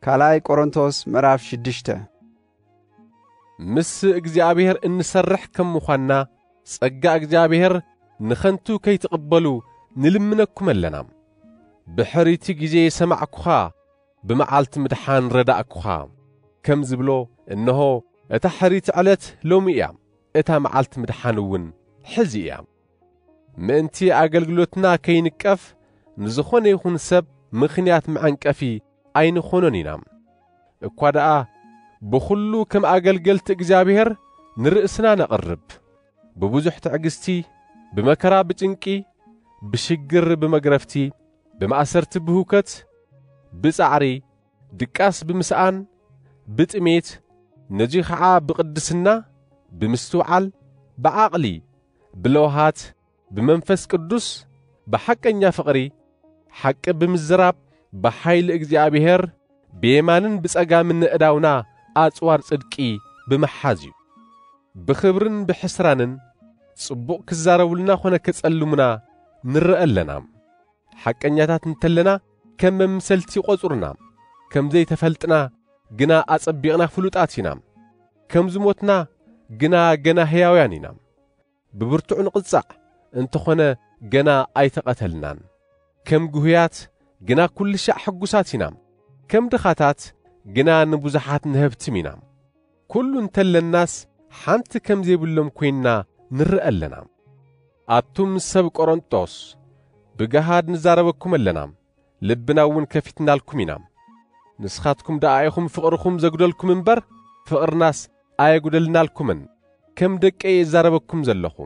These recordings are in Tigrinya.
ካልኣይ ቆሮንቶስ ምዕራፍ ሽዱሽተ። ምስ እግዚኣብሔር እንሰርሕ ከም ምዃንና፣ ጸጋ እግዚኣብሔር ንኸንቱ ከይትቕበሉ ንልምነኩም ኣለና። ብሕሪቲ ግዜ ሰማዕኩኻ፣ ብመዓልቲ ምድሓን ረዳእኩኻ፣ ከም ዝብሎ፣ እንሆ፣ እታ ሕሪቲ ዕለት ሎሚ እያ፣ እታ መዓልቲ ምድሓን እውን ሕዚ እያ። ምእንቲ ኣገልግሎትና ከይንቀፍ፣ ንዝኾነ ይኹን ሰብ ምኽንያት መዐንቀፊ ኣይንኾኖን ኢና። እኳ ደኣ ብኹሉ ከም ኣገልገልቲ እግዚኣብሔር ንርእስና ነቕርብ፣ ብብዙሕ ትዕግስቲ፣ ብመከራ፣ ብጭንቂ፣ ብሽግር፣ ብመግረፍቲ፣ ብማእሰርቲ፣ ብህውከት፣ ብጻዕሪ፣ ድቃስ፣ ብምስኣን፣ ብጥሜት፣ ነዙይ ኸዓ ብቕድስና፣ ብምስትውዓል፣ ብዓቕሊ፣ ብለውሃት፣ ብመንፈስ ቅዱስ፣ ብሓቀኛ ፍቕሪ፣ ሓቂ ብምዝራብ፣ ብሓይሊ እግዚኣብሔር፣ ብየማንን ብጸጋምን ንእዳውና ኣጽዋር ጽድቂ ብምሓዝ እዩ። ብኽብርን ብሕስራንን ጽቡቕ ክዛረቡልና ኾነ ከጸልሙና ንርአ ኣለና። ሓቀኛታት እንተለና ከም መምሰልቲ ይቖጽሩና። ከም ዘይተፈልጥና ግና ኣጸቢቕና ፍሉጣት ኢና። ከም ዝሞትና ግና ገና ሕያውያን ኢና። ብብርቱዕ ንቕጻዕ እንተኾነ ገና ኣይተቐተልናን። ከም ግሁያት ግና ኩሉ ሻዕ ሕጉሳት ኢና። ከም ድኻታት ግና ንብዙሓት ንሀብትም ኢና። ኩሉ እንተለናስ ሓንቲ ከም ዘይብሎም ኮይንና ንርአ ኣለና። ኣቱም ሰብ ቆሮንጦስ፣ ብገሃድ ንዛረበኩም ኣለና፣ ልብና እውን ከፊትናልኩም ኢና። ንስኻትኩም ደኣ ኢኹም ፍቕርኹም ዘጉደልኩም እምበር፣ ፍቕርናስ ኣየጉደልናልኩምን። ከም ደቀይ እዛረበኩም ዘለኹ፣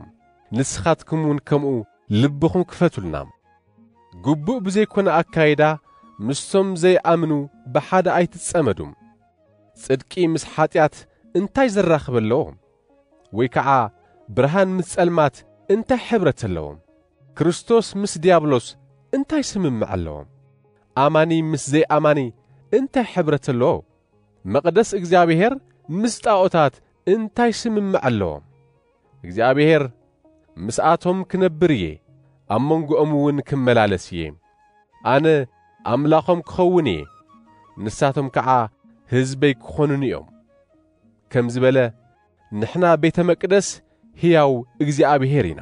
ንስኻትኩም እውን ከምኡ ልብኹም ክፈቱልና። ግቡእ ብዘይኮነ ኣካይዳ ምስቶም ዘይኣምኑ ብሓደ ኣይትጸመዱ። ጽድቂ ምስ ሓጢኣት እንታይ ዘራኽብ ኣለዎ? ወይ ከዓ ብርሃን ምስ ጸልማት እንታይ ሕብረት ኣለዎ? ክርስቶስ ምስ ዲያብሎስ እንታይ ስምምዕ ኣለዎ? ኣማኒ ምስ ዘይኣማኒ እንታይ ሕብረት ኣለዎ? መቕደስ እግዚኣብሔር ምስ ጣዖታት እንታይ ስምምዕ ኣለዎ? እግዚኣብሔር ምስኣቶም ክነብር እየ፣ ኣብ መንጎኦም እውን ክመላለስ እየ። ኣነ ኣምላኾም ክኸውን እየ፣ ንሳቶም ከዓ ህዝበይ ክኾኑኒ እዮም። ከም ዝበለ፣ ንሕና ቤተ መቅደስ ሕያው እግዚኣብሔር ኢና።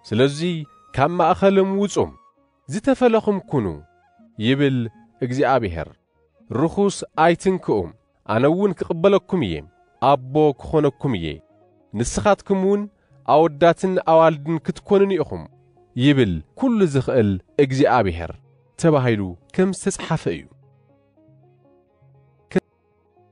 ስለዚ ካብ ማእኸሎም ውጹ፣ ዝተፈለኹም ኩኑ፣ ይብል እግዚኣብሔር። ርኹስ ኣይትንክኡ፣ ኣነ እውን ክቕበለኩም እየ፣ ኣቦ ክኾነኩም እየ። ንስኻትኩም እውን ኣወዳትን ኣዋልድን ክትኮኑኒ ኢኹም፣ ይብል ኩሉ ዝኽእል እግዚኣብሔር፣ ተባሂሉ ከም ዝተጽሓፈ እዩ።